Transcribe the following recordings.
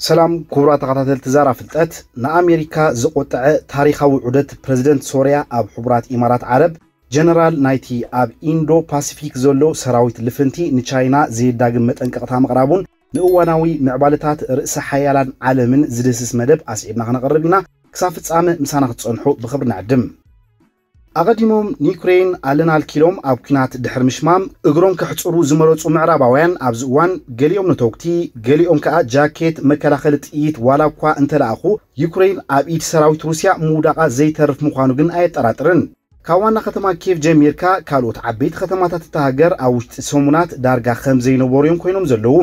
ሰላም ክቡራት ተኸታተልቲ ዛራ ፍልጠት። ንኣሜሪካ ዘቆጠዐ ታሪኻዊ ዑደት ፕረዚደንት ሶርያ ኣብ ሕቡራት ኢማራት ዓረብ፣ ጀነራል ናይቲ ኣብ ኢንዶ ፓሲፊክ ዘሎ ሰራዊት ልፍንቲ ንቻይና ዘየዳግም መጠንቀቕታ ምቕራቡን ንእዋናዊ ምዕባለታት ርእሰ ሓያላን ዓለምን ዝድህስስ መደብ ኣስዒብና ክነቕርብ ኢና። ክሳብ ፍጻመ ምሳና ክትጸንሑ ብኽብሪ ንዕድም። ኣቐዲሞም ንዩክሬን ኣለና ኣልኪሎም ኣብ ኲናት ድሕሪ ምሽማም እግሮም ከሕጽሩ ዝመረጹ ምዕራባውያን ኣብዚ እዋን ገሊኦም ነተውግቲ፣ ገሊኦም ከኣ ጃኬት መከላኸሊ ጥይት ዋላ እኳ እንተለኣኹ፣ ዩክሬን ኣብ ኢድ ሰራዊት ሩስያ ምውዳቓ ዘይተርፍ ምዃኑ ግን ኣየጠራጥርን። ካብ ዋና ከተማ ኪየቭ ጀሚርካ ካልኦት ዓበይቲ ከተማታት እታ ሃገር ኣብ ውሽጢ ሰሙናት ዳርጋ ከም ዘይነበሩ እዮም ኮይኖም ዘለዉ።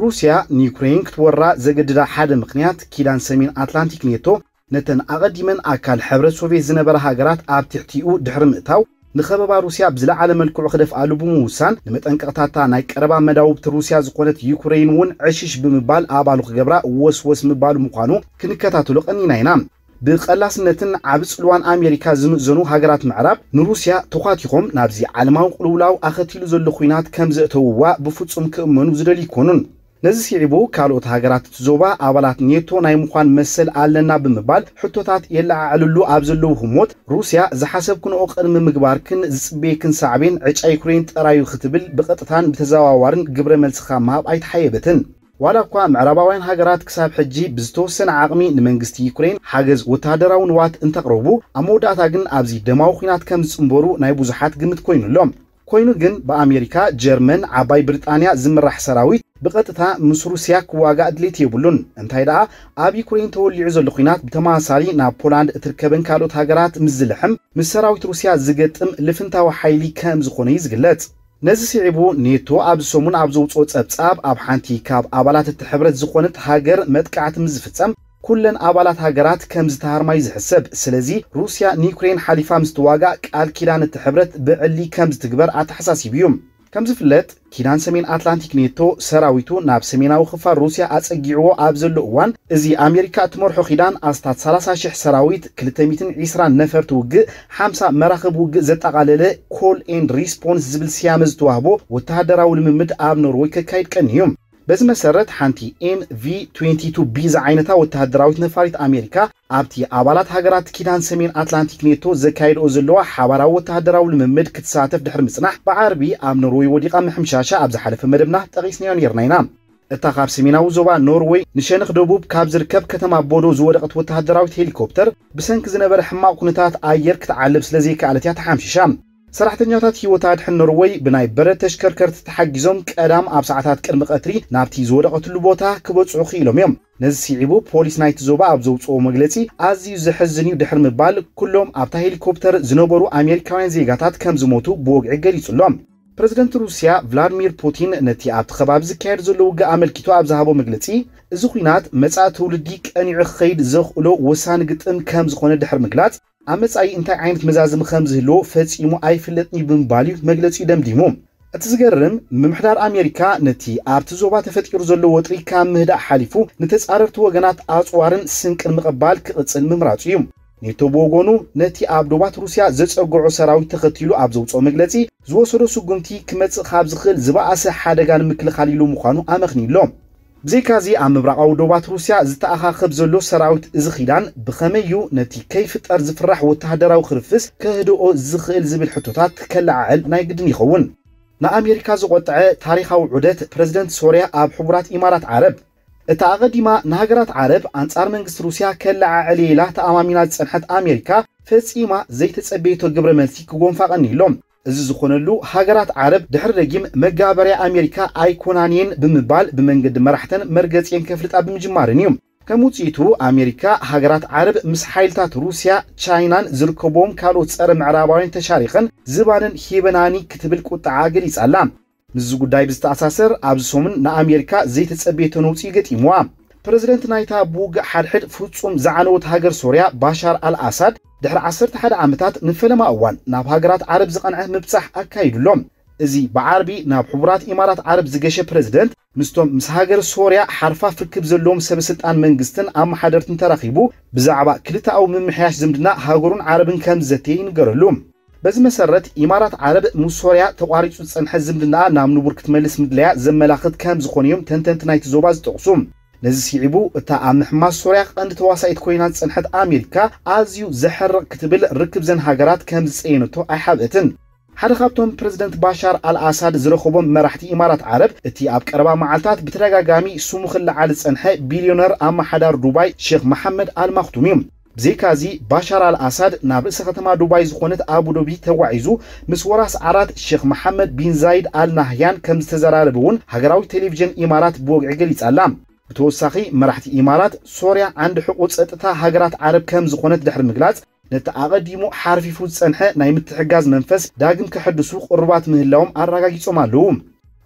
ሩስያ ንዩክሬን ክትወራ ዘገድዳ ሓደ ምኽንያት ኪዳን ሰሜን ኣትላንቲክ ኔቶ ነተን ኣቐዲመን ኣካል ሕብረት ሶቪየት ዝነበራ ሃገራት ኣብ ትሕቲኡ ድሕሪ ምእታው፣ ንኸበባ ሩስያ ብዝለዓለ መልክዑ ክደፍኣሉ ብምውሳን፣ ንመጠንቀቕታታ ናይ ቀረባ መዳውብቲ ሩስያ ዝኾነት ዩክሬን እውን ዕሽሽ ብምባል ኣባሉ ክገብራ ወስወስ ምባሉ ምዃኑ ክንከታተሎ ቀኒና ኢና። ብቐላስነትን ዓቢ ጽልዋን ኣሜሪካ ዝምእዘኑ ሃገራት ምዕራብ ንሩስያ ተዃቲኾም ናብዚ ዓለማዊ ቅልውላው ኣኸቲሉ ዘሎ ኹናት ከም ዘእተውዋ ብፍጹም ክእመኑ ዝደልዩ ኣይኮኑን። ነዚ ስዒቡ ካልኦት ሃገራት እቲ ዞባ ኣባላት ኔቶ ናይ ምዃን መሰል ኣለና ብምባል ሕቶታት የለዓዕልሉ ኣብ ዘለዉ ህሞት፣ ሩስያ ዝሓሰብክንኦ ቅድሚ ምግባርክን ዝጽበየክን ሳዕቤን ዕጫ ዩክሬን ጥራዩ ክትብል ብቐጥታን ብተዘዋዋርን ግብረ መልስኻ ምሃብ ኣይተሓየበትን። ዋላ እኳ ምዕራባውያን ሃገራት ክሳብ ሕጂ ብዝተወሰነ ዓቕሚ ንመንግስቲ ዩክሬን ሓገዝ ወተሃደራዊ ንዋት እንተቕረቡ፣ ኣብ መወዳእታ ግን ኣብዚ ደማዊ ኲናት ከም ዝጽንበሩ ናይ ብዙሓት ግምት ኮይኑ ኣሎ። ኮይኑ ግን ብኣሜሪካ፣ ጀርመን፣ ዓባይ ብሪጣንያ ዝምራሕ ሰራዊት ብቐጥታ ምስ ሩስያ ክዋጋእ ድሌት የብሉን። እንታይ ደኣ ኣብ ዩክሬን ተወሊዑ ዘሎ ኲናት ብተመሳሳሊ ናብ ፖላንድ እትርከበን ካልኦት ሃገራት ምስ ዝልሕም ምስ ሰራዊት ሩስያ ዝገጥም ልፍንታዊ ሓይሊ ከም ዝኾነ እዩ ዝግለጽ። ነዚ ስዒቡ ኔቶ ኣብዚ ሰሙን ኣብ ዘውፅኦ ጸብጻብ ኣብ ሓንቲ ካብ ኣባላት እቲ ሕብረት ዝኾነት ሃገር መጥቃዕቲ ምስ ዝፍጸም ኩለን ኣባላት ሃገራት ከም ዝተሃርማ እዩ ዝሕሰብ። ስለዚ ሩስያ ንዩክሬን ሓሊፋ ምስ ትዋጋእ ቃል ኪዳን እቲ ሕብረት ብዕሊ ከም ዝትግበር ኣተሓሳሲቡ እዩ። ከም ዝፍለጥ ኪዳን ሰሜን ኣትላንቲክ ኔቶ ሰራዊቱ ናብ ሰሜናዊ ክፋል ሩስያ ኣጸጊዕዎ ኣብ ዘሎ እዋን፣ እዚ ኣሜሪካ እትመርሖ ኪዳን ኣስታት ሰላሳ ሽሕ ሰራዊት፣ ክልተ ሚእትን ዕስራን ነፈርቲ ውግእ፣ ሓምሳ መራኽብ ውግእ ዘጠቓለለ ኮል ኤንድ ሪስፖንስ ዝብል ስያመ ዝተዋህቦ ወተሃደራዊ ልምምድ ኣብ ኖርወይ ከካይድ ቀንዩ። በዚ መሰረት ሓንቲ ኤም ቪ ትዌንቲ ቱ ቢ ዝዓይነታ ወተሃደራዊት ነፋሪት ኣሜሪካ ኣብቲ ኣባላት ሃገራት ኪዳን ሰሜን ኣትላንቲክ ኔቶ ዘካይድኦ ዘለዋ ሓባራዊ ወተሃደራዊ ልምምድ ክትሳተፍ ድሕሪ ምጽናሕ ብዓርቢ ኣብ ኖርወይ ወዲቓ ምሕምሻሻ ኣብ ዝሓለፈ መደብና ጠቒስናዮ ነይርና ኢና። እታ ካብ ሰሜናዊ ዞባ ኖርወይ ንሸነኽ ደቡብ ካብ ዝርከብ ከተማ ቦዶ ዝወደቐት ወተሃደራዊት ሄሊኮፕተር ብሰንኪ ዝነበረ ሕማቕ ኩነታት ኣየር ክትዓልብ ስለ ዘይከኣለት እያ ተሓምሺሻ። ሰራሕተኛታት ህይወት ኣድሕን ኖርወይ ብናይ በረድ ተሽከርከርቲ ተሓጊዞም ቀዳም ኣብ ሰዓታት ቅድሚ ቀትሪ ናብቲ ዝወደቐትሉ ቦታ ክበጽሑ ክኢሎም እዮም። ነዚ ስዒቡ ፖሊስ ናይቲ ዞባ ኣብ ዘውፅኦ መግለፂ ኣዝዩ ዘሕዝን እዩ ድሕሪ ምባል ኩሎም ኣብታ ሄሊኮፕተር ዝነበሩ ኣሜሪካውያን ዜጋታት ከም ዝሞቱ ብወግዒ ገሊጹ ኣሎ። ፕረዚደንት ሩስያ ቭላድሚር ፑቲን ነቲ ኣብቲ ከባቢ ዝካየድ ዘሎ ውግእ ኣመልኪቱ ኣብ ዝሃቦ መግለጺ፣ እዚ ኲናት መጻኢ ትውልዲ ቀኒዑ ክኸይድ ዘኽእሎ ወሳኒ ግጥም ከም ዝኾነ ድሕሪ ምግላጽ፣ ኣብ መጻኢ እንታይ ዓይነት መዛዝሚ ከም ዝህልዎ ፈጺሙ ኣይፍለጥን እዩ ብምባል እዩ መግለጺኡ ደምዲሙ። እቲ ዝገርም፣ ምምሕዳር ኣሜሪካ ነቲ ኣብቲ ዞባ ተፈጢሩ ዘሎ ወጥሪ ካብ ምህዳእ ሓሊፉ ንተጻረርቲ ወገናት ኣጽዋርን ስንቅን ምቕባል ክቕጽል ምምራጹ እዩ። ኔቶ ብወገኑ ነቲ ኣብ ዶባት ሩስያ ዘጸግዖ ሰራዊት ተኸቲሉ ኣብ ዘውጽኦ መግለጺ፣ ዝወሰዶ ስጉምቲ ክመጽእ ካብ ዝኽእል ዝበኣሰ ሓደጋ ንምክልኻል ኢሉ ምዃኑ ኣመኽንዩ ኣሎ። ብዘይካዚ ኣብ ምብራቓዊ ዶባት ሩስያ ዝተኣኻኸብ ዘሎ ሰራዊት እዚ ኪዳን ብኸመይ እዩ ነቲ ከይፍጠር ዝፍራሕ ወተሃደራዊ ክርፍስ ከህድኦ ዝኽእል ዝብል ሕቶታት ከለዓዕል ናይ ግድን ይኸውን። ንኣሜሪካ ዝቖጠዐ ታሪኻዊ ዑደት ፕረዚደንት ሶርያ ኣብ ሕቡራት ኢማራት ዓረብ። እታ ኣቐዲማ ንሃገራት ዓረብ ኣንጻር መንግስቲ ሩስያ ከለዓዕል እየ ኢላ ተኣማሚና ዝጸንሐት ኣሜሪካ ፈጺማ ዘይተጸበየቶ ግብረ መልሲ ክጎንፋ ቀኒሎም። እዚ ዝኾነሉ ሃገራት ዓረብ ድሕሪ ደጊም መጋበርያ ኣሜሪካ ኣይኮናን እየን ብምባል ብመንገዲ መራሕተን መርገጺኤን ከፍልጣ ብምጅማርን እዩ። ከም ውጽኢቱ ኣሜሪካ ሃገራት ዓረብ ምስ ሓይልታት ሩስያ፣ ቻይናን ዝርከብዎም ካልኦት ጸረ ምዕራባውያን ተሻሪኸን ዝባነን ሂበናኒ ክትብል ቁጥዓ ገሊጻ ኣላ። ምስዚ ጉዳይ ብዝተኣሳሰር ኣብዚ ሰሙን ንኣሜሪካ ዘይተጸበየቶ ነውጺ ገጢምዋ። ፕረዚደንት ናይታ ብውግእ ሓድሕድ ፍጹም ዝዓነወት ሃገር ሶርያ ባሻር ኣልኣሳድ ድሕሪ ዓሰርተ ሓደ ዓመታት ንፈለማ እዋን ናብ ሃገራት ዓረብ ዝቐንዐ ምብጻሕ ኣካይዱ ኣሎ። እዚ ብዓርቢ ናብ ሕቡራት ኢማራት ዓረብ ዝገሸ ፕረዚደንት ምስቶም ምስ ሃገር ሶርያ ሓርፋፍ ርክብ ዘለዎም ሰበ ስልጣን መንግስትን ኣመሓደርትን ተራኺቡ ብዛዕባ ክልተኣዊ ምምሕያሽ ዝምድና ሃገሩን ዓረብን ከም ዝዘተየ ይንገረሉ። በዚ መሰረት ኢማራት ዓረብ ምስ ሶርያ ተቋሪጹ ዝጸንሐ ዝምድናኣ ናብ ንቡር ክትመልስ ምድላያ ዘመላኽት ከም ዝኾነ እዮም ተንተንቲ ናይቲ ዞባ ዝጠቕሱ። ነዚ ስዒቡ፣ እታ ኣብ ምሕማስ ሶርያ ቀንዲ ተዋሳኢት ኮይና ዝጸንሐት ኣሜሪካ፣ ኣዝዩ ዘሕርቕ ክትብል ርክብ ዘን ሃገራት ከም ዝጸየነቶ ኣይሓብአትን። ሓደ ካብቶም ፕረዚደንት ባሻር ኣልኣሳድ ዝረኸቦም መራሕቲ ኢማራት ዓረብ፣ እቲ ኣብ ቀረባ መዓልታት ብተደጋጋሚ ስሙ ክለዓል ዝጸንሐ ቢልዮነር ኣመሓዳር ዱባይ ሼኽ መሓመድ ኣልማኽቱም እዩ። ብዘይካዚ፣ ባሻር ኣልኣሳድ ናብ ርእሰ ከተማ ዱባይ ዝኾነት ኣቡዶቢ ተጓዒዙ፣ ምስ ወራስ ዓራት ሼኽ መሓመድ ቢን ዛይድ ኣል ናህያን ከም ዝተዘራረበ እውን ሃገራዊ ቴሌቪዥን ኢማራት ብወግዒ ገሊጻ ኣላ። ብተወሳኺ፣ መራሕቲ ኢማራት፣ ሶርያ ዓንዲ ሕቖ ጸጥታ ሃገራት ዓረብ ከም ዝኾነት ድሕሪ ምግላጽ፣ ነቲ ኣቐዲሙ ሓርፊፉ ዝጸንሐ ናይ ምትሕጋዝ መንፈስ ዳግም ከሐድሱ ቅሩባት ምህላዎም ኣረጋጊጾም ኣለዉ።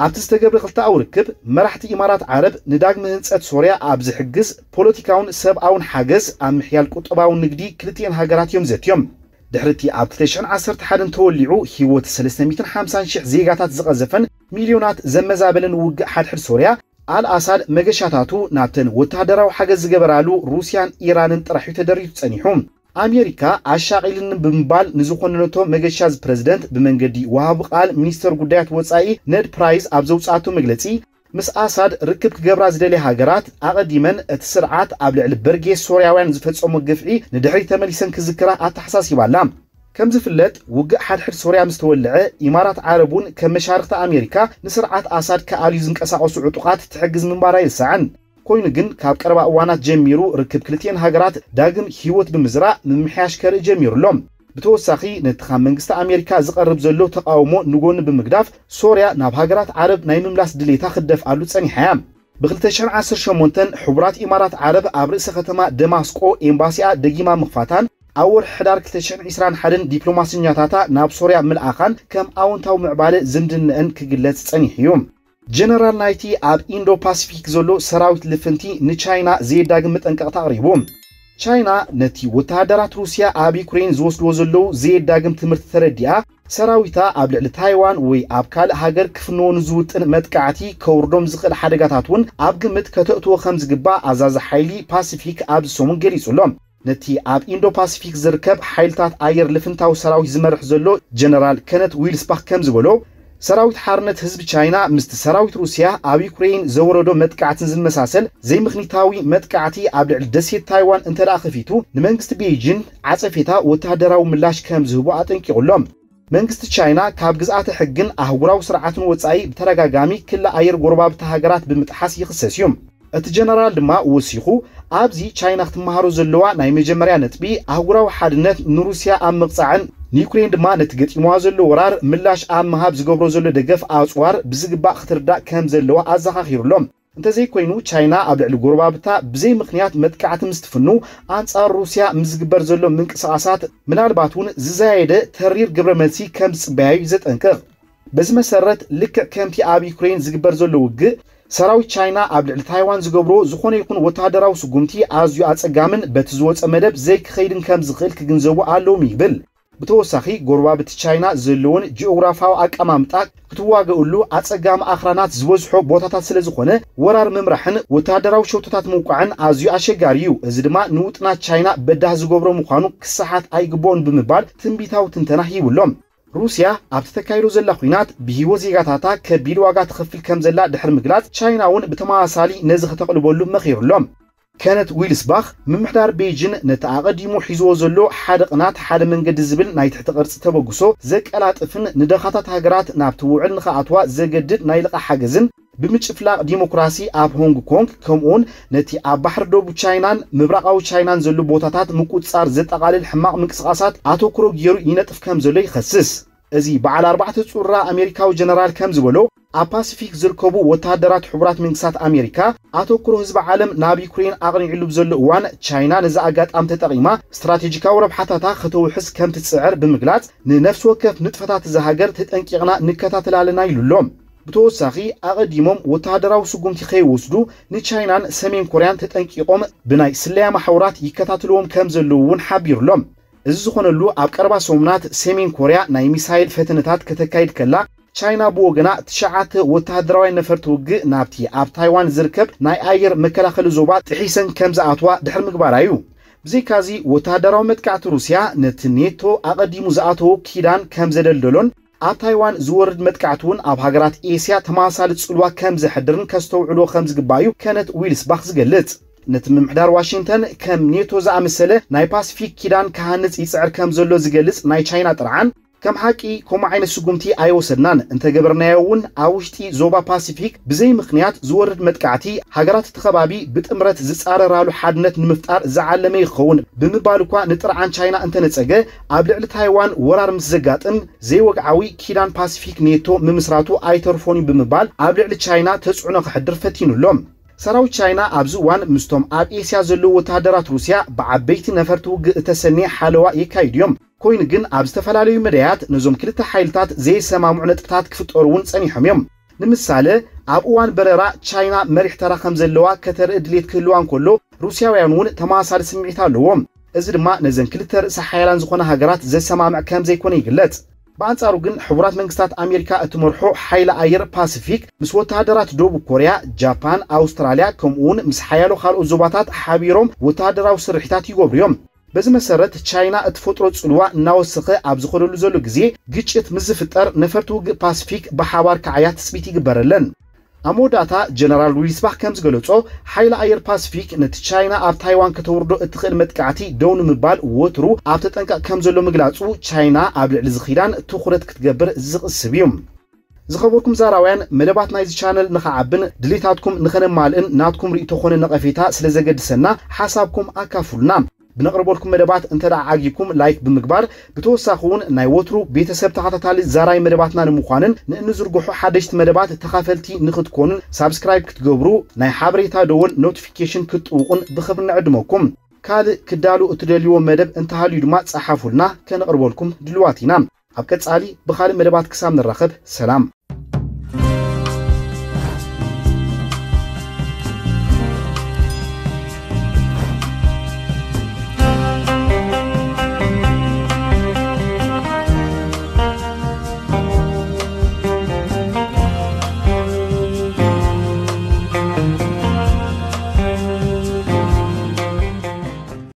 ኣብቲ ዝተገብረ ክልተኣዊ ርክብ፣ መራሕቲ ኢማራት ዓረብ ንዳግመ ህንጸት ሶርያ ኣብ ዝሕግዝ ፖለቲካውን ሰብኣውን ሓገዝ ኣብ ምሕያል ቁጠባውን ንግዲ ክልቲኤን ሃገራት እዮም ዘትዮም። ድሕሪ እቲ ኣብ ክልተ ሽሕን ዓሰርተ ሓደን ተወሊዑ ህይወት ሰለስተ ሚእትን ሓምሳን ሽሕ ዜጋታት ዝቐዘፈን ሚልዮናት ዘመዛበለን ውግእ ሓድሕድ ሶርያ፣ ኣልኣሳድ መገሻታቱ ናብተን ወተሃደራዊ ሓገዝ ዝገበራሉ ሩስያን ኢራንን ጥራሕ እዩ ተደሪቱ ጸኒሑ። ኣሜሪካ ኣሻቒልኒ ብምባል ንዝኾነነቶ መገሻ ፕረዚደንት ብመንገዲ ወሃቢ ቃል ሚኒስተር ጉዳያት ወጻኢ ነድ ፕራይስ ኣብ ዘውጻኣቶ መግለጺ፣ ምስ ኣሳድ ርክብ ክገብራ ዝደልያ ሃገራት ኣቐዲመን እቲ ስርዓት ኣብ ልዕሊ በርጌስ ሶርያውያን ዝፈጸሞ ግፍዒ ንድሕሪት ተመሊሰን ክዝክራ ኣተሓሳሲባ ኣላ። ከም ዝፍለጥ፣ ውግእ ሓድሕድ ሶርያ ምስ ተወልዐ፣ ኢማራት ዓረብ እውን ከም መሻርኽቲ ኣሜሪካ ንስርዓት ኣሳድ ክኣልዩ ዝንቀሳቐሱ ዕጡቓት ትሕግዝ ምንባራ ኣይርሳዕን። ኮይኑ ግን፣ ካብ ቀረባ እዋናት ጀሚሩ ርክብ ክልቲኤን ሃገራት ዳግም ህይወት ብምዝራእ ምምሕያሽ ከርኢ ጀሚሩ ኣሎ። ብተወሳኺ፣ ነቲ ካብ መንግስቲ ኣሜሪካ ዝቐርብ ዘሎ ተቓውሞ ንጎኒ ብምግዳፍ፣ ሶርያ ናብ ሃገራት ዓረብ ናይ ምምላስ ድሌታ ክትደፍኣሉ ጸኒሓ እያ። ብ ክልተ ሽሕን ዓሰርተ ሸሞንተን ሕቡራት ኢማራት ዓረብ ኣብ ርእሰ ከተማ ደማስቆ ኤምባሲኣ ደጊማ ምኽፋታን ኣብ ወርሒ ሕዳር ክልተ ሽሕን ዕስራን ሓደን ዲፕሎማሰኛታታ ናብ ሶርያ ምልኣኻን ከም ኣወንታዊ ምዕባለ ዝምድነአን ክግለጽ ጸኒሑ እዩ። ጀነራል ናይቲ ኣብ ኢንዶ ፓሲፊክ ዘሎ ሰራዊት ልፍንቲ ንቻይና ዘየዳግም መጠንቀቕታ ኣቕሪቡ። ቻይና ነቲ ወተሃደራት ሩስያ ኣብ ዩክሬን ዝወስድዎ ዘለዉ ዘየዳግም ትምህርቲ ተረዲኣ፣ ሰራዊታ ኣብ ልዕሊ ታይዋን ወይ ኣብ ካልእ ሃገር ክፍንዎ ንዝውጥን መጥቃዕቲ ከውርዶም ዝኽእል ሓደጋታት እውን ኣብ ግምት ከተእትዎ ከም ዝግባእ ኣዛዚ ሓይሊ ፓሲፊክ ኣብዚ ሰሙን ገሊጹ ኣሎ። ነቲ ኣብ ኢንዶ ፓሲፊክ ዝርከብ ሓይልታት ኣየር ልፍንታዊ ሰራዊት ዝመርሕ ዘሎ ጀነራል ከነት ዊልስባኽ ከም ዝበሎ፣ ሰራዊት ሓርነት ህዝቢ ቻይና ምስቲ ሰራዊት ሩስያ ኣብ ዩክሬን ዘወረዶ መጥቃዕትን ዝመሳሰል ዘይምኽኒታዊ መጥቃዕቲ ኣብ ልዕሊ ደሴት ታይዋን እንተ ደኣ ከፊቱ፣ ንመንግስቲ ቤይጂን ዓጸፌታ ወተሃደራዊ ምላሽ ከም ዝህቡ ኣጠንቂቑ ኣሎ። መንግስቲ ቻይና ካብ ግዝኣተ ሕግን ኣህጉራዊ ስርዓትን ወጻኢ ብተደጋጋሚ ክሊ ኣየር ጎረባብቲ ሃገራት ብምጥሓስ ይኽሰስ እዩ። እቲ ጀነራል ድማ ወሲኹ፣ ኣብዚ ቻይና ክትመሃሮ ዘለዋ ናይ መጀመርያ ነጥቢ፣ ኣህጉራዊ ሓድነት ንሩስያ ኣብ ምቕጻዕን ንዩክሬን ድማ ነቲ ገጢምዋ ዘሎ ወራር ምላሽ ኣብ ምሃብ ዝገብሮ ዘሎ ደገፍ ኣጽዋር ብዝግባእ ክትርዳእ ከም ዘለዋ ኣዘኻኺሩ ኣሎ። እንተዘይኮይኑ፣ ቻይና ኣብ ልዕሊ ጎረባብታ ብዘይ ምኽንያት መጥቃዕቲ ምስ ትፍኑ፣ ኣንጻር ሩስያ ምስ ዝግበር ዘሎ ምንቅስቓሳት ምናልባት እውን ዝዛየደ ተሪር ግብረ መልሲ ከም ዝጽበያ እዩ ዘጠንቅቕ። በዚ መሰረት፣ ልክዕ ከምቲ ኣብ ዩክሬን ዝግበር ዘሎ ውግእ፣ ሰራዊት ቻይና ኣብ ልዕሊ ታይዋን ዝገብሮ ዝኾነ ይኹን ወተሃደራዊ ስጉምቲ ኣዝዩ ኣጸጋምን በቲ ዝወጸ መደብ ዘይክኸይድን ከም ዝኽእል ክግንዘቡ ኣለዎም ይብል። ብተወሳኺ፣ ጎረባብቲ ቻይና ዘለዎን ጂኦግራፋዊ ኣቀማምጣ ክትዋገእሉ ኣጸጋሚ ኣኽራናት ዝበዝሖ ቦታታት ስለ ዝኾነ፣ ወራር ምምራሕን ወተሃደራዊ ሸቶታት ምውቃዕን ኣዝዩ ኣሸጋሪ እዩ። እዚ ድማ ንውጥናት ቻይና በዳህ ዝገብሮ ምዃኑ ክሰሓት ኣይግብኦን ብምባል ትንቢታዊ ትንተና ሂቡ ኣሎ። ሩስያ ኣብቲ ተካይዶ ዘላ ኲናት ብህይወት ዜጋታታ ከቢድ ዋጋ ትኸፍል ከም ዘላ ድሕሪ ምግላጽ፣ ቻይና እውን ብተመሳሳሊ ነዚ ከተቕልበሉ መኺሩ ኣሎ። ከነት ዊልስባኽ፣ ምምሕዳር ቤይጂን ነቲ ኣቐዲሙ ሒዝዎ ዘሎ ሓደ ቅናት ሓደ መንገዲ ዝብል ናይ ትሕቲ ቅርጺ ተበግሶ ዘቀላጥፍን ንደኻታት ሃገራት ናብቲ ውዕል ንኽኣትዋ ዘገድድ ናይ ልቓሕ ሓገዝን ብምጭፍላቕ ዲሞክራሲ ኣብ ሆንግ ኮንግ፣ ከምኡውን ነቲ ኣብ ባሕሪ ደቡብ ቻይናን ምብራቓዊ ቻይናን ዘሎ ቦታታት ምቁጽጻር ዘጠቓልል ሕማቕ ምንቅስቓሳት ኣተኩሮ ገይሩ ይነጥፍ ከም ዘሎ ይኸስስ። እዚ በዓል ኣርባዕተ ጹራ ኣሜሪካዊ ጀነራል ከም ዝበሎ፣ ኣብ ፓሲፊክ ዝርከቡ ወተሃደራት ሕቡራት መንግስታት ኣሜሪካ ኣተኩሮ ህዝቢ ዓለም ናብ ዩክሬን ኣቕኒዕሉ ብዘሎ እዋን፣ ቻይና ነዚ ኣጋጣሚ ተጠቒማ ስትራቴጂካዊ ረብሓታታ ከተውሕስ ከም ትጽዕር ብምግላጽ፣ ንነፍሲ ወከፍ ንጥፈታት እዛ ሃገር ተጠንቂቕና ንከታተል ኣለና ኢሉ ኣሎ። ብተወሳኺ፣ ኣቐዲሞም ወተሃደራዊ ስጉምቲ ከይወስዱ ንቻይናን ሰሜን ኮርያን ተጠንቂቖም ብናይ ስለያ ማሕውራት ይከታተልዎም ከም ዘለዉ እውን ሓቢሩ ኣሎ። እዚ ዝኾነሉ፣ ኣብ ቀረባ ሰሙናት ሰሜን ኮርያ ናይ ሚሳይል ፈተነታት ከተካይድ ከላ፣ ቻይና ብወገና ትሽዓተ ወተሃደራውያን ነፈርቲ ውግእ ናብቲ ኣብ ታይዋን ዝርከብ ናይ ኣየር መከላኸሊ ዞባ ጥሒሰን ከም ዝኣትዋ ድሕሪ ምግባራ እዩ። ብዘይካዚ፣ ወተሃደራዊ መጥቃዕቲ ሩስያ ነቲ ኔቶ ኣቐዲሙ ዝኣተዎ ኪዳን ከም ዘደልደሎን ኣብ ታይዋን ዝወርድ መጥቃዕቲ እውን ኣብ ሃገራት ኤስያ ተመሳሳሊ ጽልዋ ከም ዘሕድርን ከስተውዕሎ ከም ዝግባእ እዩ ከነት ዊልስባኽ ዝገልጽ። ነቲ ምምሕዳር ዋሽንግተን ከም ኔቶ ዝኣመሰለ ናይ ፓሲፊክ ኪዳን ክሃንጽ ይጽዕር ከም ዘሎ ዝገልጽ ናይ ቻይና ጥርዓን፣ ከም ሓቂ ከምኡ ዓይነት ስጉምቲ ኣይወሰድናን፣ እንተገበርናዮ እውን ኣብ ውሽጢ ዞባ ፓሲፊክ ብዘይ ምኽንያት ዝወርድ መጥቃዕቲ ሃገራት እቲ ከባቢ ብጥምረት ዝጻረራሉ ሓድነት ንምፍጣር ዝዓለመ ይኸውን ብምባል እኳ ንጥርዓን ቻይና እንተነጸገ፣ ኣብ ልዕሊ ታይዋን ወራር ምስ ዘጋጥም ዘይወግዓዊ ኪዳን ፓሲፊክ ኔቶ ምምስራቱ ኣይተርፎን እዩ ብምባል ኣብ ልዕሊ ቻይና ተጽዕኖ ከሕድር ፈቲኑ ኣሎ። ሰራዊት ቻይና ኣብዚ እዋን ምስቶም ኣብ ኤስያ ዘለዉ ወተሃደራት ሩስያ ብዓበይቲ ነፈርቲ ውግእ እተሰነየ ሓለዋ የካይዱ እዮም። ኮይኑ ግን ኣብ ዝተፈላለዩ መዳያት ነዞም ክልተ ሓይልታት ዘይሰማምዑ ነጥብታት ክፍጠሩ እውን ጸኒሖም እዮም። ንምሳሌ ኣብ እዋን በረራ ቻይና መሪሕ ተራ ከም ዘለዋ ከተርኢ ድሌት ክህልዋ እንከሎ ሩስያውያን እውን ተመሳሳሊ ስምዒት ኣለዎም። እዚ ድማ ነዘን ክልተ ርእሰ ሓያላን ዝኾና ሃገራት ዘሰማምዕ ከም ዘይኮነ ይግለጽ። ብኣንጻሩ ግን ሕቡራት መንግስታት ኣሜሪካ እትመርሖ ሓይሊ ኣየር ፓሲፊክ ምስ ወተሃደራት ደቡብ ኮርያ፣ ጃፓን፣ ኣውስትራልያ ከምኡ እውን ምስ ሓያሎ ካልኦት ዞባታት ሓቢሮም ወተሃደራዊ ስርሒታት ይገብሩ እዮም። በዚ መሰረት ቻይና እትፈጥሮ ጽልዋ እናወሰኸ ኣብ ዝኸደሉ ዘሎ ግዜ ግጭት ምስ ዝፍጠር ነፈርቲ ውግእ ፓሲፊክ ብሓባር ክዓያ ትጽቢት ይግበረለን። ኣብ መወዳእታ ጀነራል ዊልስባኽ ከም ዝገለጾ ሓይሊ ኣየር ፓሲፊክ ነቲ ቻይና ኣብ ታይዋን ከተውርዶ እትኽእል መጥቃዕቲ ደው ንምባል ወትሩ ኣብ ተጠንቀቕ ከም ዘሎ ምግላጹ ቻይና ኣብ ልዕሊ ዝኺዳን ትኹረት ክትገብር ዝቕስብ እዩ። ዝኸበርኩም ዛራውያን መደባት ናይዚ ቻነል ንኸዓብን ድሌታትኩም ንኸነማልእን ናትኩም ርእቶ ኾነ ነቐፌታ ስለ ዘገድሰና ሓሳብኩም ኣካፍሉና። ብነቕርበልኩም መደባት እንተ ደኣ ዓጊብኩም ላይክ ብምግባር ብተወሳኺ እውን ናይ ወትሩ ቤተሰብ ተኸታታሊ ዛራይ መደባትና ንምዃንን ንእንዝርግሖ ሓደሽቲ መደባት ተኻፈልቲ ንኽትኮኑን ሳብስክራይብ ክትገብሩ ናይ ሓበሬታ ደወል ኖቲፊኬሽን ክትጥውቑን ብኽብሪ ንዕድመኩም። ካልእ ክዳሉ እትደልይዎ መደብ እንተሃልዩ ድማ ጸሓፉልና ከነቕርበልኩም ድልዋት ኢና። ኣብ ቀጻሊ ብኻልእ መደባት ክሳብ ንራኸብ ሰላም።